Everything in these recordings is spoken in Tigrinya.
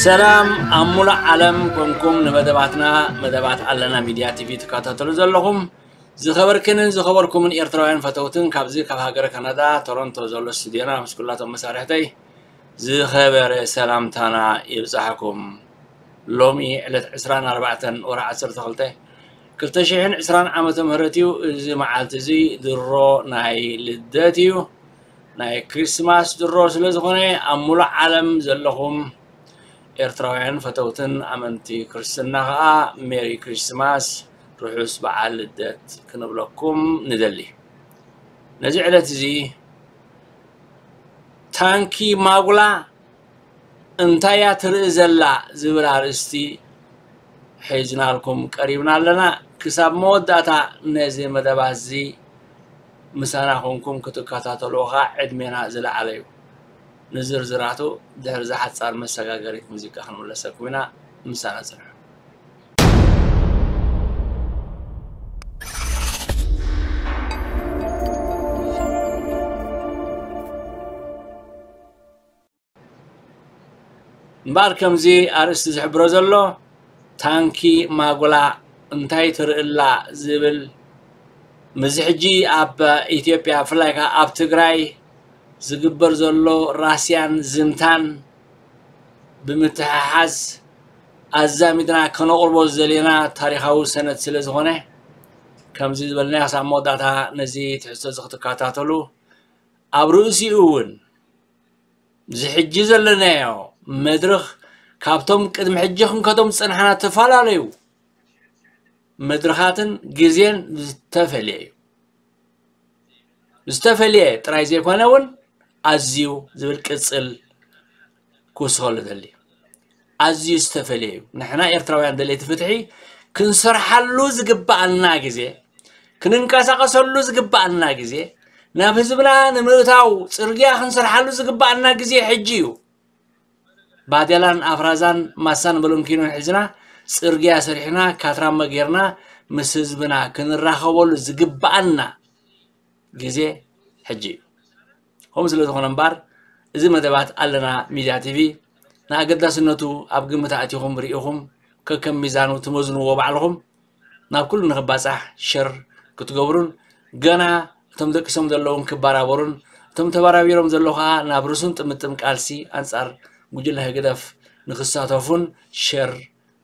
ሰላም ኣብ ሙሉእ ዓለም ኮንኩም ንመደባትና፣ መደባት ኣለና ሚድያ ቲቪ ትከታተሉ ዘለኹም ዝኸበርክንን ዝኸበርኩምን ኤርትራውያን ፈተውትን ካብዚ ካብ ሃገረ ካናዳ ቶሮንቶ ዘሎ ስቱድዮና ምስ ኩላቶም መሳርሕተይ ዝኸበረ ሰላምታና ይብጻሕኩም። ሎሚ ዕለት ዕስራን ኣርባዕተን ወርሒ ዓሰርተ ክልተ ክልተ ሽሕን ዕስራን ዓመተ ምህረት እዩ። እዚ መዓልቲ እዚ ድሮ ናይ ልደት እዩ፣ ናይ ክሪስማስ ድሮ ስለ ዝኾነ ኣብ ሙሉእ ዓለም ዘለኹም ኤርትራውያን ፈተውትን ኣመንቲ ክርስትና ኸኣ ሜሪ ክሪስማስ፣ ርሑስ በዓል ልደት ክንብለኩም ንደሊ። ነዚ ዕለት እዚ ታንኪ ማጉላ እንታይ እያ ትርኢ ዘላ ዝብል ኣርእስቲ ሒዝናልኩም ቀሪብና ኣለና። ክሳብ መወዳእታ ነዚ መደባት እዚ ምሳና ኮንኩም ክትከታተልዎ ኸኣ ዕድሜና ዝለዓለ እዩ። ንዝርዝራቱ ድሕሪ እዛ ሓጻር መሰጋገሪት ሙዚቃ ክንምለሰኩም ኢና። ምሳና ጽንሑ። እምበኣር ከምዚ ኣርእስቲ ዝሕብሮ ዘሎ ታንኪ ማጉላ እንታይ ትርእላ ዝብል ምስዚ ሕጂ ኣብ ኢትዮጵያ ብፍላይ ከኣ ኣብ ትግራይ ዝግበር ዘሎ ራስያን ዝምታን ብምትሕሓዝ ኣዛሚድና ከነቕርቦ ዝደለና ታሪኻዊ ሰነድ ስለ ዝኾነ ከምዚ ዝበልናዮ ክሳብ መወዳእታ ነዚ ትሕዝቶ እዚ ክትከታተሉ ኣብ ርእሲኡ እውን እዚ ሕጂ ዘለናዮ መድረኽ ካብቶም ቅድሚ ሕጂ ክንከዶም ዝጸናሕና ዝተፈላለዩ መድረኻትን ግዜን ዝተፈልየ እዩ። ዝተፈልየ ጥራይ ዘይኮነ እውን ኣዝዩ ዝብል ቅጽል ክውስኸሉ ደሊ። ኣዝዩ ዝተፈልየ እዩ። ንሕና ኤርትራውያን ደለይቲ ፍትሒ ክንሰርሓሉ ዝግብኣና ግዜ፣ ክንንቀሳቐሰሉ ዝግብኣና ግዜ፣ ናብ ህዝብና ንምእታው ጽርግያ ክንሰርሓሉ ዝግብኣና ግዜ ሕጂ እዩ። ባዴላን ኣፍራዛን ማሳን በሎንኪኖን ሒዝና ጽርግያ ሰሪሕና ካትራመ ጌርና ምስ ህዝብና ክንራኸበሉ ዝግብኣና ግዜ ሕጂ እዩ። ከምኡ ስለ ዝኾነ እምበኣር እዚ መደባት ኣለና ሚድያ ቲቪ ንኣገዳስነቱ ኣብ ግምት ኣእቲኹም ርኢኹም ከከም ሚዛኑ ትመዝንዎ ባዕልኹም ናብ ኩሉ ንኽባጻሕ ሸር ክትገብሩን ገና እቶም ደቂሶም ዘለውን ክበራበሩን እቶም ተበራቢሮም ዘለዉ ኸኣ ናብ ርሱን ጥምጥም ቃልሲ ኣንጻር ጉጅለ ህግደፍ ንኽሳተፉን ሸር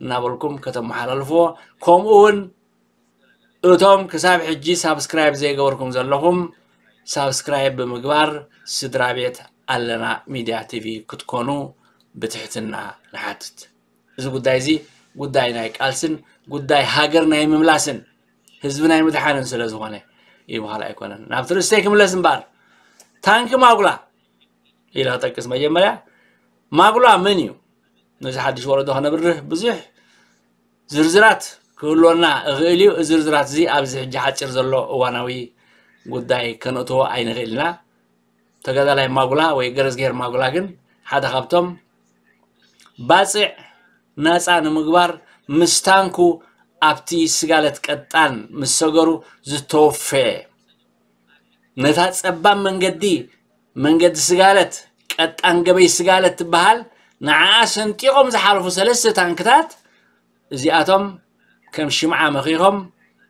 እናበልኩም ከተመሓላልፍዎ ከምኡ እውን እቶም ክሳብ ሕጂ ሳብስክራይብ ዘይገበርኩም ዘለኹም ሳብስክራይብ ብምግባር ስድራ ቤት ኣለና ሚድያ ቲቪ ክትኮኑ ብትሕትና ንሓትት። እዚ ጉዳይ እዚ ጉዳይ ናይ ቃልስን ጉዳይ ሃገር ናይ ምምላስን ህዝቢ ናይ ምድሓንን ስለ ዝኾነ ይበሃል ኣይኮነን። ናብ ትርስተይ ክምለስ እምበኣር ታንኪ ማጉላ ኢለ ክጠቅስ መጀመርያ ማጉላ መን እዩ? ነዚ ሓድሽ ወለዶ ከነብርህ ብዙሕ ዝርዝራት ክህልወና እኽእል እዩ። እዚ ዝርዝራት እዚ ኣብዚ ሕጂ ሓፂር ዘሎ እዋናዊ ጉዳይ ከነእትዎ ኣይንኽእል ኢና። ተጋዳላይ ማጉላ ወይ ገረዝጌር ማጉላ ግን ሓደ ካብቶም ባፅዕ ናፃ ንምግባር ምስ ታንኩ ኣብቲ ስጋለት ቀጣን ምስ ሰገሩ ዝተወፈየ ነታ ፀባብ መንገዲ መንገዲ ስጋለት ቀጣን ገበይ ስጋለት ትበሃል ንዓኣ ሰንጢቖም ዝሓለፉ ሰለስተ ታንክታት እዚኣቶም ከም ሽምዓ መኺኾም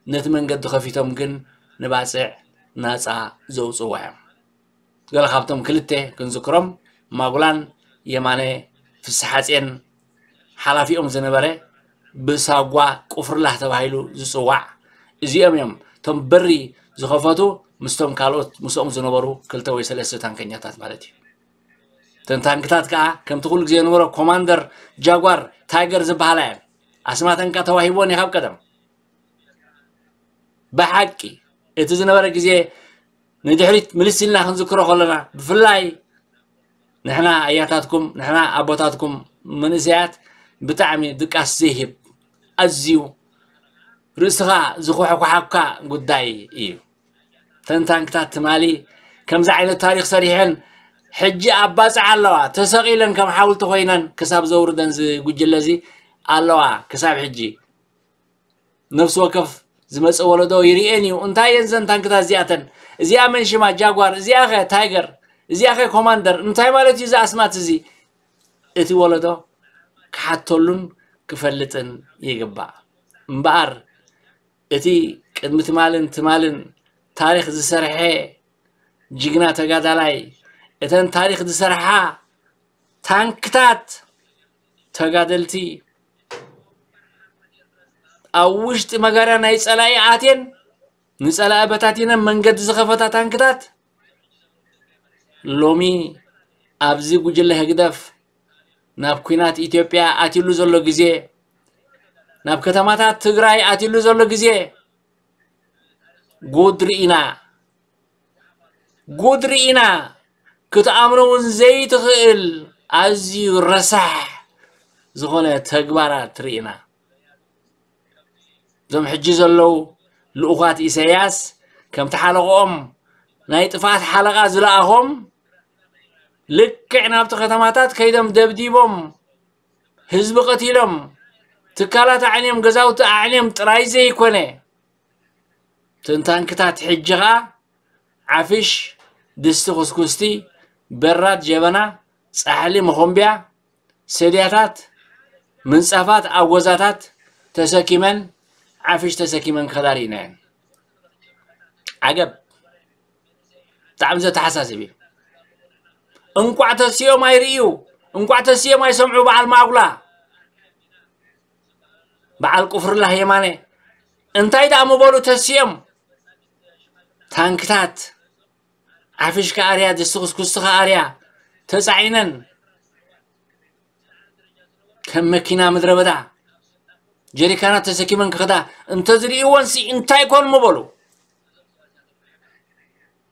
ነቲ መንገዲ ከፊቶም ግን ንባፅዕ ናፃ ዘውፅዋ እዮም። ገለ ካብቶም ክልተ ክንዝክሮም ማጉላን የማነ ፍስሓጼን ሓላፊኦም ዝነበረ ብሳጓ ቁፍርላህ ተባሂሉ ዝፅዋዕ እዚኦም እዮም እቶም በሪ ዝኸፈቱ ምስቶም ካልኦት ምስኦም ዝነበሩ ክልተ ወይ ሰለስተ ታንከኛታት ማለት እዩ። እተን ታንክታት ከዓ ከምቲ ኩሉ ግዜ ዝነበሮ ኮማንደር ጃጓር ታይገር ዝበሃላ እየን። ኣስማተን ከዓ ተዋሂቦን እዩ ካብ ቀደም። ብሓቂ እቲ ዝነበረ ግዜ ንድሕሪት ምልስ ኢልና ክንዝክሮ ከለና ብፍላይ ንሕና ኣያታትኩም ንሕና ኣቦታትኩም መንእሰያት ብጣዕሚ ድቃስ ዘይህብ ኣዝዩ ርእስኻ ዝኮሓኳሓካ ጉዳይ እዩ። ተንታንክታት ትማሊ ከምዚ ዓይነት ታሪክ ሰሪሐን ሕጂ ኣብ ባፅዕ ኣለዋ ተሰቂለን ከም ሓውልቲ ኮይነን ክሳብ ዘውርደን ዝጉጅለ እዚ ኣለዋ ክሳብ ሕጂ ነፍሲ ወከፍ ዝመፀ ወለዶ ይርእየን እዩ እንታይ እየን ዘን ታንክታት እዚኣተን እዚኣ መን ሽማ ጃጓር እዚኣ ኸ ታይገር እዚኣ ኸ ኮማንደር እንታይ ማለት እዩ እዚ ኣስማት እዚ እቲ ወለዶ ክሓተሉን ክፈልጥን ይግባእ። እምበኣር እቲ ቅድሚ ትማልን ትማልን ታሪኽ ዝሰርሐ ጅግና ተጋዳላይ፣ እተን ታሪኽ ዝሰርሓ ታንክታት ተጋደልቲ ኣብ ውሽጢ መጋርያ ናይ ጸላኢ ኣትየን ንጸላኢ በታቲነን መንገዲ ዝኸፈታ ታንክታት ሎሚ ኣብዚ ጉጅለ ህግደፍ ናብ ኲናት ኢትዮጵያ ኣትዩሉ ዘሎ ግዜ፣ ናብ ከተማታት ትግራይ ኣትዩሉ ዘሎ ግዜ ጉድ ርኢና። ጉድ ርኢና። ክትኣምኖ እውን ዘይትኽእል ኣዝዩ ረሳሕ ዝኾነ ተግባራት ርኢና። እዞም ሕጂ ዘለዉ ልኡኻት ኢሳያስ ከምቲ ሓለቕኦም ናይ ጥፍኣት ሓለቓ ዝለኣኾም ልክዕ ናብቲ ከተማታት ከይዶም ደብዲቦም ህዝቢ ቀቲሎም ትካላት ኣዕንዮም ገዛውቲ ኣዕንዮም ጥራይ ዘይኮነ ትንታንክታት ሕጂ ኸኣ ዓፍሽ ድስቲ ኩስኩስቲ በራድ ጀበና ጻሕሊ መኾምብያ ሰድያታት ምንጻፋት ኣጎዛታት ተሰኪመን ዓፍሽ ተሰኪመን ክኸዳ ርኢናየን። ዓገብ። ብጣዕሚ ዘተሓሳስብ እዩ። እንቋዕ ተሲኦም ኣይርእዩ፣ እንቋዕ ተሲኦም ኣይሰምዑ። በዓል ማጉላ፣ በዓል ቁፍርላህ የማነ እንታይ ደኣ ምበሉ ተሲኦም። ታንክታት ዓፍሽ ከኣርያ፣ ድስቲ ኩስኩስቲ ከኣርያ ተጻዒነን ከም መኪና ምድረ በዳ ጀሪካናት ተሰኪመን ክኸዳ እንተዝርእይወንሲ እንታይ ኮን ምበሉ።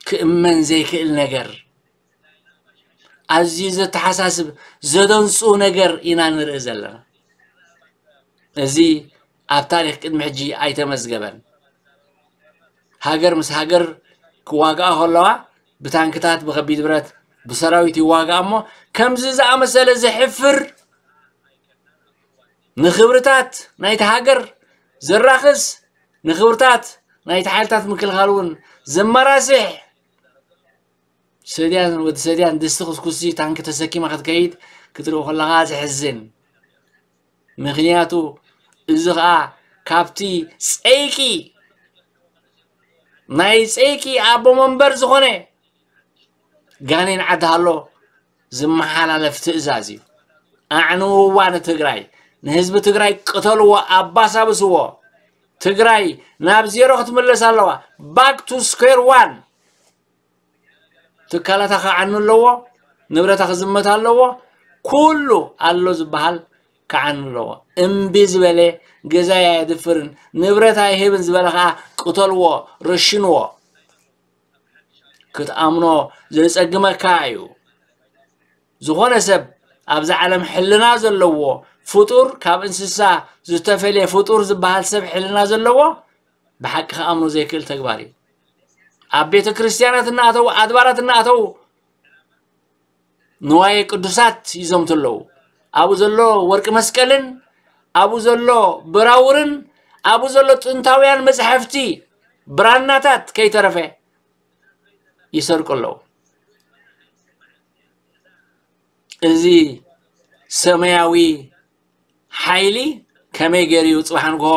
ክእመን ዘይክእል ነገር፣ ኣዝዩ ዘተሓሳስብ ዘደንጹ ነገር ኢና ንርኢ ዘለና። እዚ ኣብ ታሪኽ ቅድሚ ሕጂ ኣይተመዝገበን። ሃገር ምስ ሃገር ክዋግኣ ከለዋ ብታንክታት ብኸቢድ ብረት ብሰራዊት ይዋግኣ እሞ ከምዚ ዝኣመሰለ ዘሕፍር ንኽብርታት ናይቲ ሃገር ዘራኽስ ንኽብርታት ናይቲ ሓይልታት ምክልኻል እውን ዘመራስሕ ሰድያን ወዲ ሰድያን ድስቲ ኩስኩሲ ታንኪ ተሰኪማ ክትከይድ ክትርኢ ከለኻ ዘሕዝን። ምኽንያቱ እዚ ኸኣ ካብቲ ጸይቂ ናይ ጸይቂ ኣቦ መንበር ዝኾነ ጋኔን ዓዲ ሃሎ ዝመሓላለፍ ትእዛዝ እዩ። ኣዕንውዋ ንትግራይ፣ ንህዝቢ ትግራይ ቅተልዎ፣ ኣባሳብስዎ። ትግራይ ናብ ዜሮ ክትምለስ ኣለዋ። Back to square one። ትካላታ ክዓኑ ኣለዎ፣ ንብረታ ክዝመት ኣለዎ። ኩሉ ኣሎ ዝበሃል ክዓኑ ኣለዎ። እምቢ ዝበለ ገዛይ ኣየድፍርን ንብረት ኣይህብን ዝበለ ከዓ ቅተልዎ፣ ረሽንዎ። ክትኣምኖ ዘጸግመካ እዩ። ዝኾነ ሰብ ኣብዛ ዓለም ሕልና ዘለዎ ፍጡር፣ ካብ እንስሳ ዝተፈልየ ፍጡር ዝበሃል ሰብ ሕልና ዘለዎ ብሓቂ ክኣምኖ ዘይክእል ተግባር እዩ። ኣብ ቤተ ክርስቲያናት እናኣተዉ ኣድባራት እናኣተዉ ንዋየ ቅዱሳት ይዘምቱ ኣለዉ። ኣብኡ ዘሎ ወርቂ መስቀልን ኣብኡ ዘሎ ብራውርን ኣብኡ ዘሎ ጥንታውያን መጽሓፍቲ ብራናታት ከይተረፈ ይሰርቁ ኣለዉ። እዚ ሰማያዊ ሓይሊ ከመይ ገይሩ እዩ ጽባሕ ንግሆ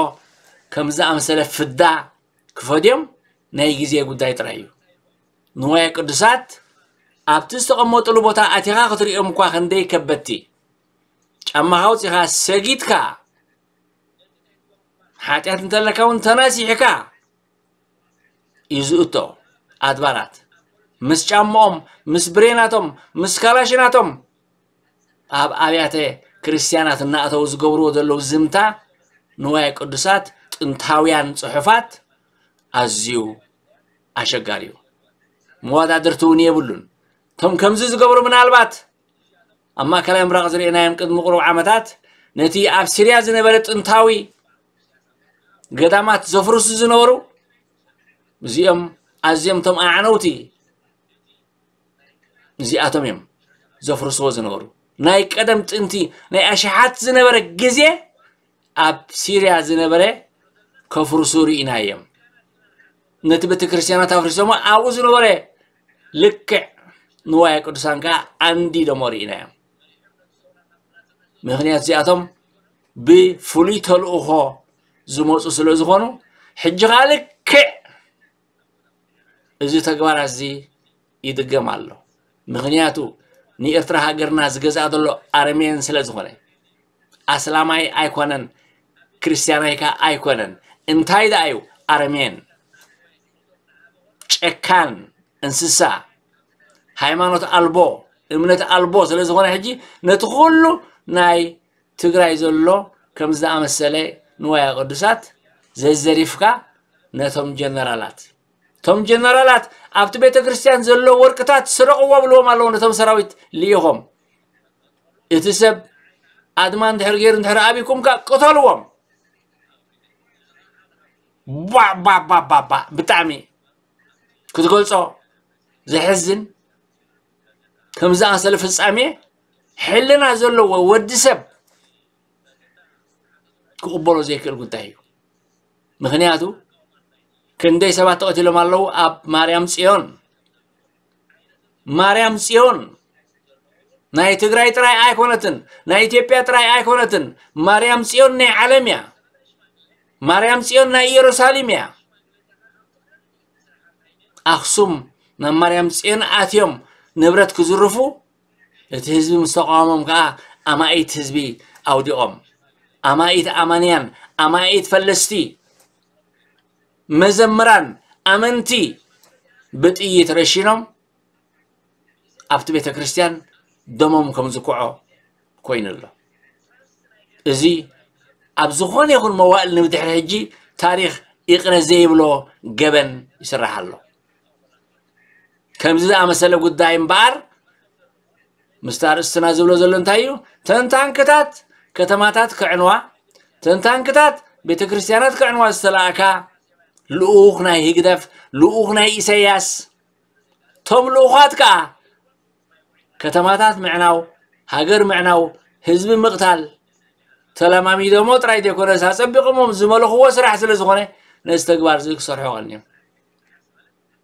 ከም ዝኣመሰለ ፍዳ ክፈድዮም ናይ ግዜ ጉዳይ ጥራይ እዩ። ንዋየ ቅዱሳት ኣብቲ ዝተቐመጡሉ ቦታ ኣቲኻ ክትሪኦም እኳ ክንደይ ከበድቲ፣ ጫማኻ ኣውጺኻ ሰጊድካ ሓጢኣት እንተለካ እውን ተናሲሕካ እዩ ዝእቶ። ኣድባራት ምስ ጫምኦም ምስ ብሬናቶም ምስ ካላሽናቶም ኣብ ኣብያተ ክርስቲያናት እናእተው ዝገብርዎ ዘለዉ ዝምታ ንዋየ ቅዱሳት ጥንታውያን ጽሑፋት ኣዝዩ ኣሸጋሪ እዩ። መወዳድርቲ እውን የብሉን። እቶም ከምዚ ዝገብሩ ምናልባት ኣብ ማእከላይ ምብራቕ ዝርኤናዮም ቅድሚ ቁሩብ ዓመታት ነቲ ኣብ ሲርያ ዝነበረ ጥንታዊ ገዳማት ዘፍርሱ ዝነበሩ እዚኦም ኣዝዮም እቶም ኣዕነውቲ እዚኣቶም እዮም ዘፍርስዎ ዝነበሩ። ናይ ቀደም ጥንቲ ናይ ኣሽሓት ዝነበረ ግዜ ኣብ ሲርያ ዝነበረ ከፍርሱ ርኢናዮም። ነቲ ቤተ ክርስቲያናት ኣፍሪሶሞ ኣብኡ ዝነበረ ልክዕ ንዋየ ቅዱሳን ከዓ ኣንዲዶሞ ርኢናዮም። ምኽንያቱ እዚኣቶም ብፍሉይ ተልእኾ ዝመፁ ስለ ዝኾኑ፣ ሕጂ ከዓ ልክዕ እዚ ተግባራት እዚ ይድገም ኣሎ። ምኽንያቱ ንኤርትራ ሃገርና ዝገዝኣ ዘሎ ኣረሜን ስለ ዝኾነ፣ ኣስላማይ ኣይኮነን፣ ክርስትያናይ ከዓ ኣይኮነን። እንታይ ደኣ እዩ? ኣረሜን፣ ጨካን፣ እንስሳ፣ ሃይማኖት ኣልቦ፣ እምነት ኣልቦ ስለ ዝኾነ፣ ሕጂ ነቲ ኩሉ ናይ ትግራይ ዘሎ ከምዚ ዝኣመሰለ ንዋያ ቅዱሳት ዘዘሪፍካ፣ ነቶም ጀነራላት፣ እቶም ጀነራላት ኣብቲ ቤተ ክርስቲያን ዘሎ ወርቅታት ስረቕዎ ብልዎም ኣለዉ። ነቶም ሰራዊት ልኢኾም፣ እቲ ሰብ ኣድማ እንድሕር ገይሩ እንድሕር ኣቢኩም ከኣ ቅተልዎም። ባ ባ ባ ባ ባ ብጣዕሚ ክትገልጾ ዘሕዝን። ከም ዝኣመሰለ ፍጻሜ ሕልና ዘለዎ ወዲ ሰብ ክቕበሎ ዘይክእል ጉዳይ እዩ። ምኽንያቱ ክንደይ ሰባት ተቐቲሎም ኣለዉ ኣብ ማርያም ጽዮን። ማርያም ጽዮን ናይ ትግራይ ጥራይ ኣይኮነትን፣ ናይ ኢትዮጵያ ጥራይ ኣይኮነትን። ማርያም ጽዮን ናይ ዓለም እያ። ማርያም ጽዮን ናይ ኢየሩሳሌም እያ። ኣኽሱም ናብ ማርያም ጽዮን ኣትዮም ንብረት ክዝርፉ፣ እቲ ህዝቢ ምስ ተቃወሞም ከኣ ኣማኢት ህዝቢ ኣውዲቖም። ኣማኢት ኣማንያን፣ ኣማኢት ፈለስቲ፣ መዘምራን፣ ኣመንቲ ብጥይት ረሺኖም ኣብቲ ቤተ ክርስቲያን ደሞም ከም ዝኩዖ ኮይኑ ኣሎ። እዚ ኣብ ዝኾነ ይኹን መዋእል ንብድሕሪ ሕጂ ታሪኽ ይቕረ ዘይብሎ ገበን ይስራሕ ኣሎ። ከምዚ ዝኣመሰለ ጉዳይ እምበኣር ምስቲ ኣርእስትና ዝብሎ ዘሎ እንታይ እዩ? ተን ታንክታት ከተማታት ክዕንዋ፣ ተን ታንክታት ቤተ ክርስቲያናት ክዕንዋ ዝተላእካ ልኡኽ ናይ ህግደፍ፣ ልኡኽ ናይ ኢሳያስ፣ ቶም ልኡኻት ከኣ ከተማታት ምዕናው፣ ሃገር ምዕናው፣ ህዝቢ ምቕታል ተለማሚዶሞ ጥራይ ዘይኮነስ ኣጸቢቖሞም ዝመለኽዎ ስራሕ ስለ ዝኾነ ነዚ ተግባር እዚ ክሰርሑ ቀንዮም።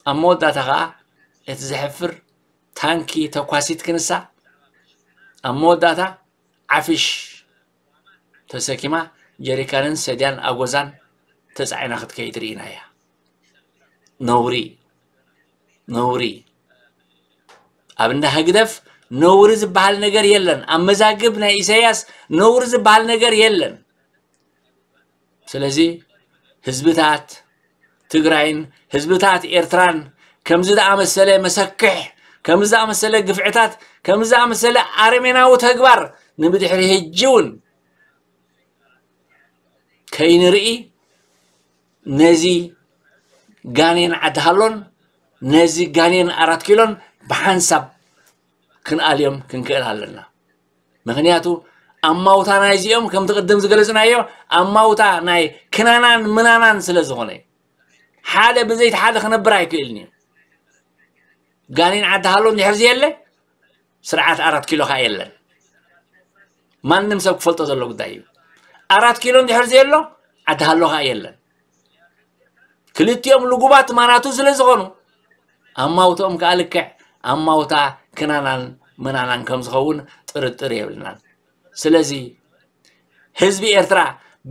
ኣብ መወዳእታ ከኣ እቲ ዘሕፍር ታንኪ ተኳሲት ክንሳ ኣብ መወዳእታ ዓፍሽ ተሰኪማ ጀሪካንን ሰድያን ኣጎዛን ተጻዒና ክትከይድ ርኢናያ። ነውሪ፣ ነውሪ። ኣብ እንዳ ህግደፍ ነውሪ ዝበሃል ነገር የለን። ኣብ መዛግብ ናይ ኢሳያስ ነውሪ ዝበሃል ነገር የለን። ስለዚ ህዝብታት ትግራይን ህዝብታት ኤርትራን ከምዚ ዝኣመሰለ መሰክሕ፣ ከምዚ ዝኣመሰለ ግፍዕታት፣ ከምዚ ዝኣመሰለ ኣረሜናዊ ተግባር ንብድሕሪ ሕጂ እውን ከይንርኢ ነዚ ጋኔን ዓዲ ሃሎን ነዚ ጋኔን ኣራት ኪሎን ብሓንሳብ ክንኣልዮም ክንክእል ኣለና። ምኽንያቱ ኣማውታ ናይዚኦም ከምቲ ቅድም ዝገለጽናዮ ኣማውታ ናይ ክናናን ምናናን ስለ ዝኾነ ሓደ ብዘይቲ ሓደ ክነብር ኣይክእልን እዩ። ጋኔን ዓዲ ሃሎ እንድሕር ዘየለ ስርዓት ኣራት ኪሎ ኸዓ የለን። ማንም ሰብ ክፈልጦ ዘሎ ጉዳይ እዩ። ኣራት ኪሎ እንድሕር ዘየሎ ዓዲ ሃሎ ኸዓ የለን። ክልቲኦም ልጉባት ማናቱ ስለ ዝኾኑ ኣማውትኦም ከኣ ልክዕ ኣማውታ ክናናን ምናናን ከም ዝኸውን ጥርጥር የብልናን። ስለዚ ህዝቢ ኤርትራ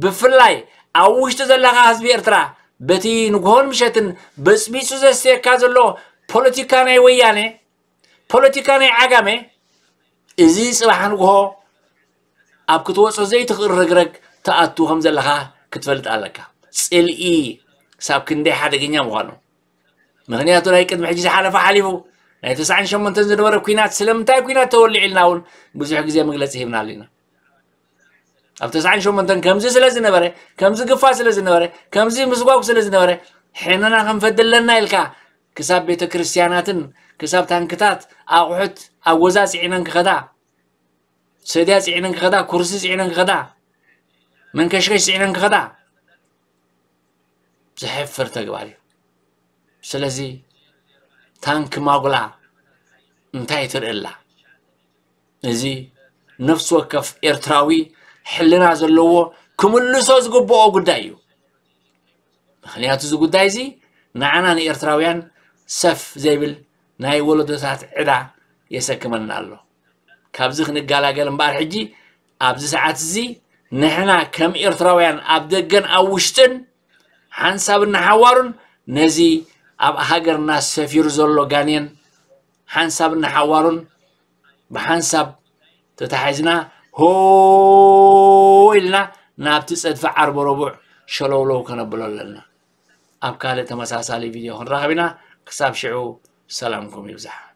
ብፍላይ ኣብ ውሽጢ ዘለኻ ህዝቢ ኤርትራ በቲ ንግሆን ምሸትን በጽቢጹ ዘስተየካ ዘሎ ፖለቲካ ናይ ወያነ ፖለቲካ ናይ ዓጋመ እዚ ጽባሕ ንግሆ ኣብ ክትወጾ ዘይትኽእል ረግረግ ትኣቱ ከም ዘለኻ ክትፈልጥ ኣለካ። ጽልኢ ክሳብ ክንደይ ሓደገኛ ምዃኑ። ምኽንያቱ ናይ ቅድሚ ሕጂ ዝሓለፈ ሓሊፉ ናይ ተስዓን ሸሞንተን ዝነበረ ኲናት ስለምንታይ ኲናት ተወሊዑ ኢልና እውን ብዙሕ ግዜ መግለጺ ሂብናሉ ኢና። ኣብ ተስዓን ሸሞንተን ከምዚ ስለ ዝነበረ ከምዚ ግፋ ስለ ዝነበረ ከምዚ ምስጓጉ ስለ ዝነበረ ሕነና ክንፈዲ ኣለና ኢልካ ክሳብ ቤተ ክርስቲያናትን ክሳብ ታንክታት ኣቑሑት ኣጎዛ ጽዒነን ክኸዳ ሰድያ ጽዒነን ክኸዳ ኩርሲ ጽዒነን ክኸዳ መንከሽከሽ ጽዒነን ክኸዳ ዘሕፍር ተግባር እዩ። ስለዚ ታንክ ማጉላ እንታይ ትርእላ? እዚ ነፍሲ ወከፍ ኤርትራዊ ሕልና ዘለዎ ክምልሶ ዝግብኦ ጉዳይ እዩ። ምኽንያቱ እዚ ጉዳይ እዚ ንዓና ንኤርትራውያን ሰፍ ዘይብል ናይ ወለዶታት ዕዳ የሰክመና ኣሎ። ካብዚ ክንገላገል እምበኣር ሕጂ ኣብዚ ሰዓት እዚ ንሕና ከም ኤርትራውያን ኣብ ደገን ኣብ ውሽጥን ሓንሳብ እናሓዋሩን ነዚ ኣብ ሃገርና ሰፊሩ ዘሎ ጋኔን ሓንሳብ እናሓዋሩን ብሓንሳብ ተታሒዝና ሆ ኢልና ናብቲ ጸድፊ ዓርቢ ረቡዕ ሸለውለው ከነብሎ ኣለና። ኣብ ካልእ ተመሳሳሊ ቪድዮ ክንራኸብ ኢና። ክሳብ ሽዑ ሰላምኩም ይብዛሕ።